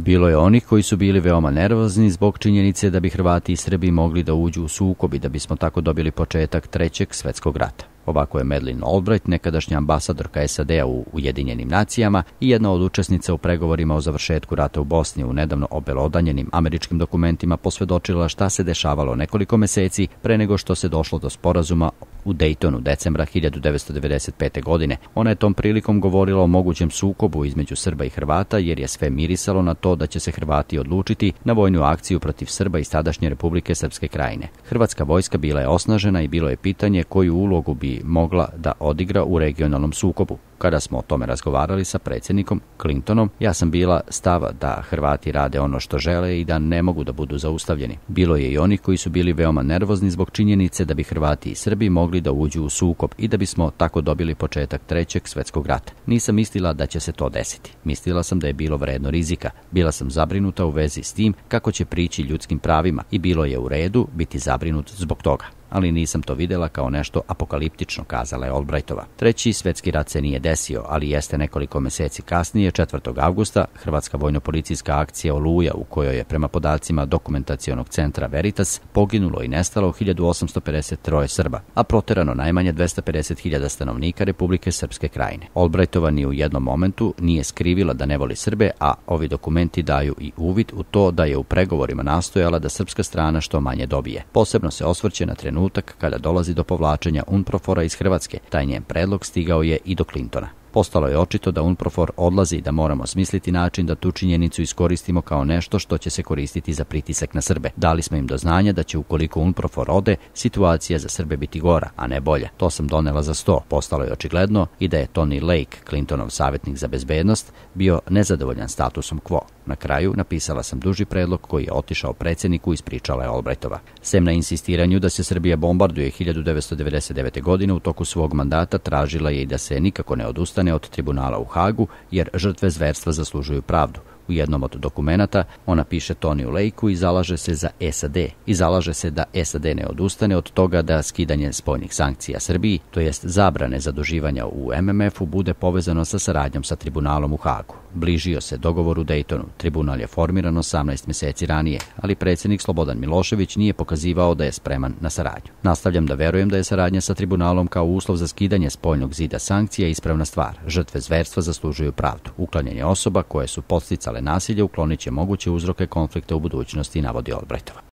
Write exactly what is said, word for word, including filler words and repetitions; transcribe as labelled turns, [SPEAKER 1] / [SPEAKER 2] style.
[SPEAKER 1] Bilo je onih koji su bili veoma nervozni zbog činjenice da bi Hrvati i Srbi mogli da uđu u sukob i da bismo tako dobili početak Trećeg svjetskog rata. Ovako je Madeleine Albright, nekadašnja ambasadorka S A D-a u Ujedinjenim nacijama i jedna od učesnica u pregovorima o završetku rata u Bosni, u nedavno obelodanjenim američkim dokumentima posvjedočila šta se dešavalo nekoliko meseci pre nego što se došlo do sporazuma u Daytonu decembra hiljadu devetsto devedeset pete. godine. Ona je tom prilikom govorila o mogućem sukobu između Srba i Hrvata jer je sve mirisalo na to da će se Hrvati odlučiti na vojnu akciju protiv Srba iz tadašnje Republike Srpske Krajine. Hrvatska vojska bila je osnažena i bilo je pitanje koju ulogu bi mogla da odigra u regionalnom sukobu. Kada smo o tome razgovarali sa predsjednikom Clintonom, ja sam bila stava da Hrvati rade ono što žele i da ne mogu da budu zaustavljeni. Bilo je i onih koji su bili veoma nervozni zbog činjenice da bi Hrvati i Srbi mogli da uđu u sukob i da bismo tako dobili početak Trećeg svjetskog rata. Nisam mislila da će se to desiti. Mislila sam da je bilo vredno rizika. Bila sam zabrinuta u vezi s tim kako će prići ljudskim pravima i bilo je u redu biti zabrinut zbog toga. Ali nisam to vidjela kao nešto apokaliptično, kazala je Albrightova. Treći svjetski rat se nije desio, ali jeste nekoliko mjeseci kasnije, četvrtog avgusta, hrvatska vojno-policijska akcija Oluja, u kojoj je prema podacima dokumentacionog centra Veritas poginulo i nestalo hiljadu osamsto pedeset troje Srba, a proterano najmanje dvesta pedeset hiljada stanovnika Republike Srpske Krajine. Albrightova ni u jednom momentu nije skrivila da ne voli Srbe, a ovi dokumenti daju i uvid u to da je u pregovorima nastojala da srpska strana što manje dobije. Posebno se osvrće na trenutak kada dolazi do povlačenja UNPROFOR-a iz Hrvatske. Taj njen predlog stigao je i do Clintona. Postalo je očito da UNPROFOR odlazi i da moramo smisliti način da tu činjenicu iskoristimo kao nešto što će se koristiti za pritisak na Srbe. Dali smo im do znanja da će ukoliko UNPROFOR ode, situacija za Srbe biti gora, a ne bolja. To sam donela za sto. Postalo je očigledno i da je Tony Lake, Clintonov savjetnik za bezbednost, bio nezadovoljan statusom quo. Na kraju napisala sam duži predlog koji je otišao predsjedniku, ispričala je Albrightova. Sem na insistiranju da se Srbija bombarduje hiljadu devetsto devedeset devete. godine u toku svog mandata tražila je i da se nikako ne odustane od tribunala u Hagu, jer žrtve zverstva zaslužuju pravdu. U jednom od dokumenata ona piše Toniju Lakeu i zalaže se za S A D i zalaže se da S A D ne odustane od toga da skidanje spoljnih sankcija Srbiji, to jest zabrane zaduživanja u M M F-u, bude povezano sa saradnjom sa tribunalom u Hagu. Bližio se dogovor u Daytonu. Tribunal je formiran osamnaest mjeseci ranije, ali predsjednik Slobodan Milošević nije pokazivao da je spreman na saradnju. Nastavljam da verujem da je saradnja sa tribunalom kao uslov za skidanje spoljnog zida sankcija ispravna stvar. Žrtve zverstva zaslužuju pravdu. Uklanjanje osoba koje su podsticale nasilje uklonit će moguće uzroke konflikta u budućnosti, navodi Albrightova.